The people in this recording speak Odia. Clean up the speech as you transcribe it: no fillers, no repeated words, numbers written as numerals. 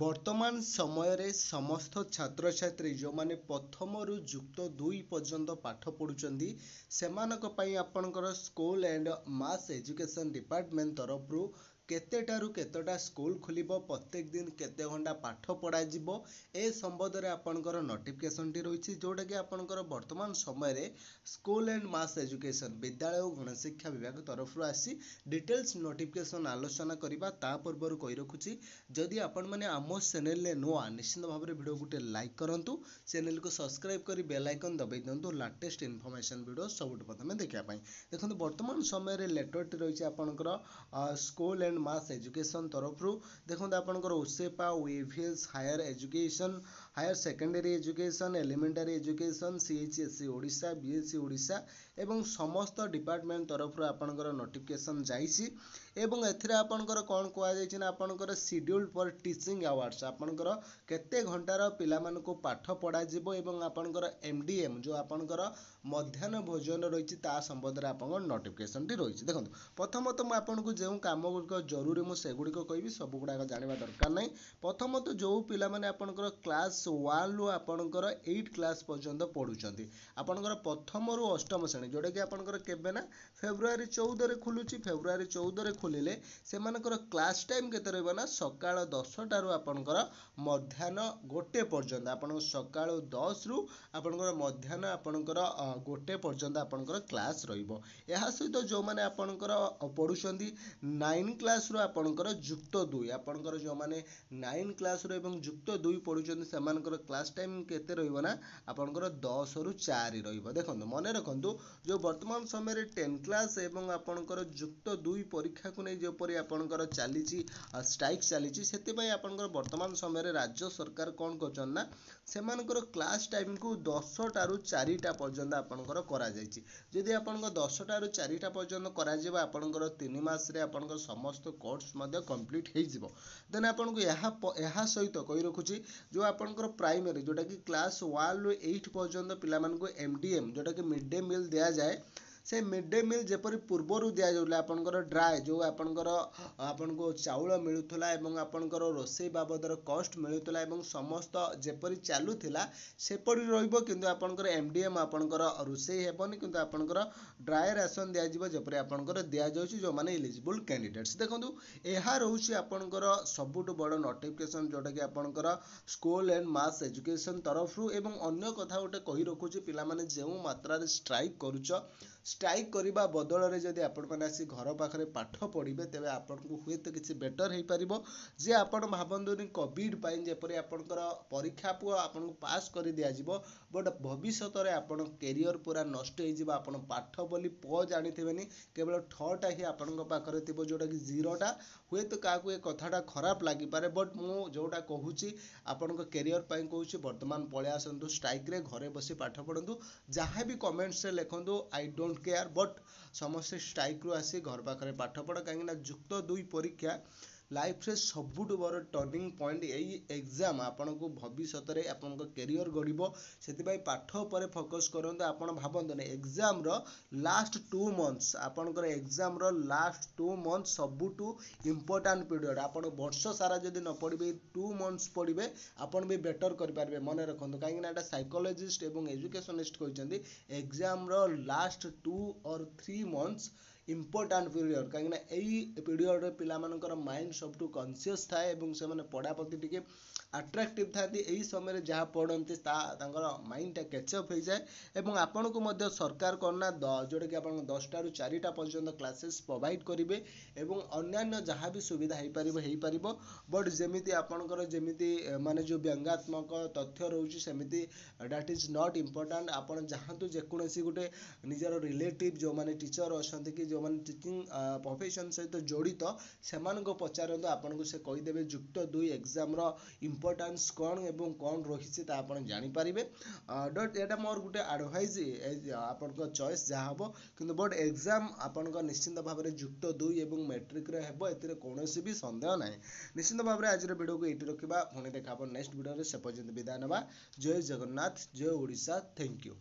ବର୍ତ୍ତମାନ ସମୟରେ ସମସ୍ତ ଛାତ୍ରଛାତ୍ରୀ ଯେଉଁମାନେ ପ୍ରଥମରୁ ଯୁକ୍ତ ଦୁଇ ପର୍ଯ୍ୟନ୍ତ ପାଠ ପଢ଼ୁଛନ୍ତି, ସେମାନଙ୍କ ପାଇଁ ଆପଣଙ୍କର School and Mass Education Department ତରଫରୁ କେତେଟାରୁ କେତେଟା ସ୍କୁଲ ଖୋଲିବ, ପ୍ରତ୍ୟେକ ଦିନ କେତେ ଘଣ୍ଟା ପାଠ ପଢ଼ାଯିବ, ଏ ସମ୍ବନ୍ଧରେ ଆପଣଙ୍କର ନୋଟିଫିକେସନଟି ରହିଛି, ଯେଉଁଟାକି ଆପଣଙ୍କର ବର୍ତ୍ତମାନ ସମୟରେ ସ୍କୁଲ ଆଣ୍ଡ ମାସ୍ ଏଜୁକେସନ୍, ବିଦ୍ୟାଳୟ ଓ ଗଣଶିକ୍ଷା ବିଭାଗ ତରଫରୁ ଆସି ଡିଟେଲ୍ସ ନୋଟିଫିକେସନ୍ ଆଲୋଚନା କରିବା। ତା ପୂର୍ବରୁ କହି ରଖୁଛି, ଯଦି ଆପଣମାନେ ଆମ ଚ୍ୟାନେଲରେ ନୂଆ, ନିଶ୍ଚିତ ଭାବରେ ଭିଡ଼ିଓ ଗୋଟେ ଲାଇକ୍ କରନ୍ତୁ, ଚ୍ୟାନେଲକୁ ସବସ୍କ୍ରାଇବ୍ କରି ବେଲ୍ ଆଇକନ୍ ଦବାଇ ଦିଅନ୍ତୁ ଲାଟେଷ୍ଟ ଇନଫର୍ମେସନ୍ ଭିଡ଼ିଓ ସବୁଠୁ ପ୍ରଥମେ ଦେଖିବା ପାଇଁ। ଦେଖନ୍ତୁ, ବର୍ତ୍ତମାନ ସମୟରେ ଲେଟରଟି ରହିଛି ଆପଣଙ୍କର ସ୍କୁଲ ଆଣ୍ଡ ମାସ୍ ଏଜୁକେସନ୍ ତରଫରୁ। ଦେଖନ୍ତୁ, ଆପଣଙ୍କର OSEPA, OAVS, Higher Education, Higher Secondary Education, Elementary Education, CHSE Odisha, BSE Odisha ଏବଂ ସମସ୍ତ ଡିପାର୍ଟମେଣ୍ଟ ତରଫରୁ ଆପଣଙ୍କର ନୋଟିଫିକେସନ୍ ଯାଇଛି। ଏବଂ ଏଥିରେ ଆପଣଙ୍କର କ'ଣ କୁହାଯାଇଛି ନା ଆପଣଙ୍କର ସିଡ୍ୟୁଲ୍ ଫର୍ ଟିଚିଂ ଆୱାର୍ସ, ଆପଣଙ୍କର କେତେ ଘଣ୍ଟାର ପିଲାମାନଙ୍କୁ ପାଠ ପଢ଼ାଯିବ ଏବଂ ଆପଣଙ୍କର MDM, ଯେଉଁ ଆପଣଙ୍କର ମଧ୍ୟାହ୍ନ ଭୋଜନ ରହିଛି, ତା ସମ୍ବନ୍ଧରେ ଆପଣଙ୍କର ନୋଟିଫିକେସନ୍ଟି ରହିଛି। ଦେଖନ୍ତୁ, ପ୍ରଥମତଃ ମୁଁ ଆପଣଙ୍କୁ ଯେଉଁ କାମ ଗୁଡ଼ିକ ଜରୁରୀ ମୁଁ ସେଗୁଡ଼ିକ କହିବି, ସବୁଗୁଡ଼ାକ ଜାଣିବା ଦରକାର ନାହିଁ। ପ୍ରଥମତଃ ଯେଉଁ ପିଲାମାନେ ଆପଣଙ୍କର କ୍ଲାସ୍ 1ରୁ ଆପଣଙ୍କର 8 କ୍ଲାସ୍ ପର୍ଯ୍ୟନ୍ତ ପଢ଼ୁଛନ୍ତି, ଆପଣଙ୍କର ପ୍ରଥମରୁ ଅଷ୍ଟମ ଶ୍ରେଣୀ, ଯେଉଁଟାକି ଆପଣଙ୍କର କେବେ ନା ଫେବୃଆରୀ 14ରେ ଖୋଲୁଛି। ଫେବୃଆରୀ 14ରେ ଖୋଲିଲେ ସେମାନଙ୍କର କ୍ଲାସ୍ ଟାଇମ୍ କେତେ ରହିବ ନା ସକାଳ 10ଟାରୁ ଆପଣଙ୍କର ମଧ୍ୟାହ୍ନ 1 ପର୍ଯ୍ୟନ୍ତ। ଆପଣଙ୍କ ସକାଳୁ 10ରୁ ଆପଣଙ୍କର ମଧ୍ୟାହ୍ନ ଆପଣଙ୍କର 1 ପର୍ଯ୍ୟନ୍ତ ଆପଣଙ୍କର କ୍ଲାସ୍ ରହିବ। ଏହା ସହିତ ଯେଉଁମାନେ ଆପଣଙ୍କର ପଢ଼ୁଛନ୍ତି 9 କ୍ଲାସ୍ରୁ ଆପଣଙ୍କର ଯୁକ୍ତ ଦୁଇ, ଆପଣଙ୍କର ଯେଉଁମାନେ 9 କ୍ଲାସ୍ରୁ ଏବଂ ଯୁକ୍ତ ଦୁଇ ପଢ଼ୁଛନ୍ତି, ସେମାନଙ୍କର କ୍ଲାସ୍ ଟାଇମ୍ କେତେ ରହିବ ନା ଆପଣଙ୍କର 10ରୁ 4 ରହିବ। ଦେଖନ୍ତୁ, ମନେ ରଖନ୍ତୁ, ଯେଉଁ ବର୍ତ୍ତମାନ ସମୟରେ 10 କ୍ଲାସ୍ ଏବଂ ଆପଣଙ୍କର ଯୁକ୍ତ ଦୁଇ ପରୀକ୍ଷାକୁ ନେଇ ଯେପରି ଆପଣଙ୍କର ଚାଲିଛି, ଷ୍ଟ୍ରାଇକ୍ ଚାଲିଛି, ସେଥିପାଇଁ ଆପଣଙ୍କର ବର୍ତ୍ତମାନ ସମୟରେ ରାଜ୍ୟ ସରକାର କ'ଣ କରୁଛନ୍ତି ନା ସେମାନଙ୍କର କ୍ଲାସ୍ ଟାଇମ୍କୁ 10ଟାରୁ 4ଟା ପର୍ଯ୍ୟନ୍ତ ଆପଣଙ୍କର କରାଯାଇଛି। ଯଦି ଆପଣଙ୍କ 10ଟାରୁ 4ଟା ପର୍ଯ୍ୟନ୍ତ କରାଯିବ, ଆପଣଙ୍କର 3 ମାସରେ ଆପଣଙ୍କର ସମସ୍ତ କୋର୍ସ ମଧ୍ୟ କମ୍ପ୍ଲିଟ୍ ହେଇଯିବ। ଦେନ୍ ଆପଣଙ୍କୁ ଏହା ସହିତ କହି ରଖୁଛି, ଯେଉଁ ଆପଣଙ୍କର ପ୍ରାଇମେରୀ, ଯେଉଁଟାକି କ୍ଲାସ୍ 1ରୁ 8 ପର୍ଯ୍ୟନ୍ତ ପିଲାମାନଙ୍କୁ MDM, ଯେଉଁଟାକି ମିଡ଼୍ ଡେ ମିଲ୍ ଦିଆଯାଏ, ସେ ମିଡ଼୍ ଡେ ମିଲ୍ ଯେପରି ପୂର୍ବରୁ ଦିଆଯାଉଥିଲା, ଆପଣଙ୍କର ଡ୍ରାଏ ଯେଉଁ ଆପଣଙ୍କର ଆପଣଙ୍କୁ ଚାଉଳ ମିଳୁଥିଲା ଏବଂ ଆପଣଙ୍କର ରୋଷେଇ ବାବଦର କଷ୍ଟ ମିଳୁଥିଲା ଏବଂ ସମସ୍ତ ଯେପରି ଚାଲୁଥିଲା ସେପରି ରହିବ। କିନ୍ତୁ ଆପଣଙ୍କର MDM ଆପଣଙ୍କର ରୋଷେଇ ହେବନି, କିନ୍ତୁ ଆପଣଙ୍କର ଡ୍ରାଏ ରାସନ ଦିଆଯିବ ଯେପରି ଆପଣଙ୍କର ଦିଆଯାଉଛି ଯେଉଁମାନେ ଇଲିଜିବୁଲ୍ କ୍ୟାଣ୍ଡିଡେଟ୍ସ। ଦେଖନ୍ତୁ, ଏହା ରହୁଛି ଆପଣଙ୍କର ସବୁଠୁ ବଡ଼ ନୋଟିଫିକେସନ୍, ଯେଉଁଟାକି ଆପଣଙ୍କର ସ୍କୁଲ ଆଣ୍ଡ ମାସ୍ ଏଜୁକେସନ୍ ତରଫରୁ। ଏବଂ ଅନ୍ୟ କଥା ଗୋଟେ କହି ରଖୁଛି, ପିଲାମାନେ ଯେଉଁ ମାତ୍ରାରେ ଷ୍ଟ୍ରାଇକ୍ କରୁଛ, ଷ୍ଟ୍ରାଇକ୍ କରିବା ବଦଳରେ ଯଦି ଆପଣମାନେ ଆସି ଘର ପାଖରେ ପାଠ ପଢ଼ିବେ, ତେବେ ଆପଣଙ୍କୁ ହୁଏତ କିଛି ବେଟର୍ ହେଇପାରିବ। ଯେ ଆପଣ ଭାବନ୍ତୁନି, କୋଭିଡ଼ ପାଇଁ ଯେପରି ଆପଣଙ୍କର ପରୀକ୍ଷାକୁ ଆପଣଙ୍କୁ ପାସ୍ କରି ଦିଆଯିବ, ବଟ୍ ଭବିଷ୍ୟତରେ ଆପଣ କ୍ୟାରିୟର ପୁରା ନଷ୍ଟ ହେଇଯିବ। ଆପଣ ପାଠ ବୋଲି ପ ଜାଣିଥିବେନି, କେବଳ ଠଟା ହିଁ ଆପଣଙ୍କ ପାଖରେ ଥିବ, ଯେଉଁଟାକି ଜିରୋଟା। ହୁଏତ କାହାକୁ ଏ କଥାଟା ଖରାପ ଲାଗିପାରେ, ବଟ୍ ମୁଁ ଯେଉଁଟା କହୁଛି ଆପଣଙ୍କ କ୍ୟାରିୟର ପାଇଁ କହୁଛି। ବର୍ତ୍ତମାନ ପଳେଇ ଆସନ୍ତୁ ଷ୍ଟ୍ରାଇକ୍ରେ, ଘରେ ବସି ପାଠ ପଢ଼ନ୍ତୁ। ଯାହା ବି କମେଣ୍ଟସରେ ଲେଖନ୍ତୁ, I don't care, but ସମସ୍ତେ ଷ୍ଟ୍ରାଇକ୍ରୁ ଆସି ଘର ପାଖରେ ପାଠ ପଢ଼। କାହିଁକିନା ଯୁକ୍ତ ଦୁଇ ପରୀକ୍ଷା ଲାଇଫ୍ରେ ସବୁଠୁ ବଡ଼ ଟର୍ଣ୍ଣିଂ ପଏଣ୍ଟ। ଏଇ ଏକ୍ଜାମ୍ ଆପଣଙ୍କୁ ଭବିଷ୍ୟତରେ ଆପଣଙ୍କ କ୍ୟାରିୟର ଗଢ଼ିବ। ସେଥିପାଇଁ ପାଠ ଉପରେ ଫୋକସ୍ କରନ୍ତୁ। ଆପଣ ଭାବନ୍ତୁନି, ଏକ୍ଜାମ୍ର ଲାଷ୍ଟ 2 ମନ୍ଥସ୍, ଆପଣଙ୍କର ଏକ୍ଜାମ୍ର ଲାଷ୍ଟ 2 ମନ୍ଥସ୍ ସବୁଠୁ ଇମ୍ପୋର୍ଟାଣ୍ଟ ପିରିୟଡ଼। ଆପଣ ବର୍ଷ ସାରା ଯଦି ନ ପଢ଼ିବେ, 2 ମନ୍ଥସ୍ ପଢ଼ିବେ, ଆପଣ ବି ବେଟର୍ କରିପାରିବେ। ମନେ ରଖନ୍ତୁ, କାହିଁକିନା ଏଇଟା ସାଇକୋଲୋଜିଷ୍ଟ ଏବଂ ଏଜୁକେସନିଷ୍ଟ କହିଛନ୍ତି, ଏକ୍ଜାମ୍ର last 2 or 3 months important period। କାହିଁକିନା ଏଇ ପିରିୟଡ଼ରେ ପିଲାମାନଙ୍କର ମାଇଣ୍ଡ ସବୁଠୁ କନସିୟସ୍ ଥାଏ ଏବଂ ସେମାନେ ପଢ଼ା ପ୍ରତି ଟିକେ ଆଟ୍ରାକ୍ଟିଭ୍ ଥାନ୍ତି। ଏହି ସମୟରେ ଯାହା ପଢ଼ନ୍ତି ତା ତାଙ୍କର ମାଇଣ୍ଡଟା କ୍ୟାଚଅପ୍ ହେଇଯାଏ। ଏବଂ ଆପଣଙ୍କୁ ମଧ୍ୟ ସରକାର କ'ଣ ନା ଯେଉଁଟାକି ଆପଣଙ୍କ 10ଟାରୁ 4ଟା ପର୍ଯ୍ୟନ୍ତ କ୍ଲାସେସ୍ ପ୍ରୋଭାଇଡ଼ କରିବେ ଏବଂ ଅନ୍ୟାନ୍ୟ ଯାହା ବି ସୁବିଧା ହେଇପାରିବ ହେଇପାରିବ। ବଟ୍ ଯେମିତି ଆପଣଙ୍କର ଯେମିତି ମାନେ ଯେଉଁ ବ୍ୟଙ୍ଗାତ୍ମକ ତଥ୍ୟ ରହୁଛି, ସେମିତି that is not important। ଆପଣ ଚାହାନ୍ତୁ ଯେକୌଣସି ଗୋଟେ ନିଜର ରିଲେଟିଭ୍ ଯେଉଁମାନେ ଟିଚର୍ ଅଛନ୍ତି କି ଯେଉଁମାନେ ଟିଚିଂ ପ୍ରଫେସନ୍ ସହିତ ଜଡ଼ିତ, ସେମାନଙ୍କୁ ପଚାରନ୍ତୁ, ଆପଣଙ୍କୁ ସେ କହିଦେବେ ଯୁକ୍ତ ଦୁଇ ଏକ୍ଜାମ୍ର ଇମ୍ପୋର୍ଟାନ୍ସ କ'ଣ ଏବଂ କ'ଣ ରହିଛି ତା ଆପଣ ଜାଣିପାରିବେ। ବଟ୍ ଏଇଟା ମୋର ଗୋଟେ ଆଡ଼ଭାଇଜ୍, ଆପଣଙ୍କ ଚଏସ୍ ଯାହା ହେବ, କିନ୍ତୁ ବଟ୍ ଏକ୍ଜାମ୍ ଆପଣଙ୍କ ନିଶ୍ଚିନ୍ତ ଭାବରେ ଯୁକ୍ତ ଦୁଇ ଏବଂ ମେଟ୍ରିକରେ ହେବ, ଏଥିରେ କୌଣସି ବି ସନ୍ଦେହ ନାହିଁ। ନିଶ୍ଚିନ୍ତ ଭାବରେ ଆଜିର ଭିଡ଼ିଓକୁ ଏଇଠି ରଖିବା। ପୁଣି ଦେଖା ହେବ ନେକ୍ସଟ ଭିଡ଼ିଓରେ, ସେ ପର୍ଯ୍ୟନ୍ତ ବିଦାୟ ନେବା। ଜୟ ଜଗନ୍ନାଥ, ଜୟ ଓଡ଼ିଶା, thank you.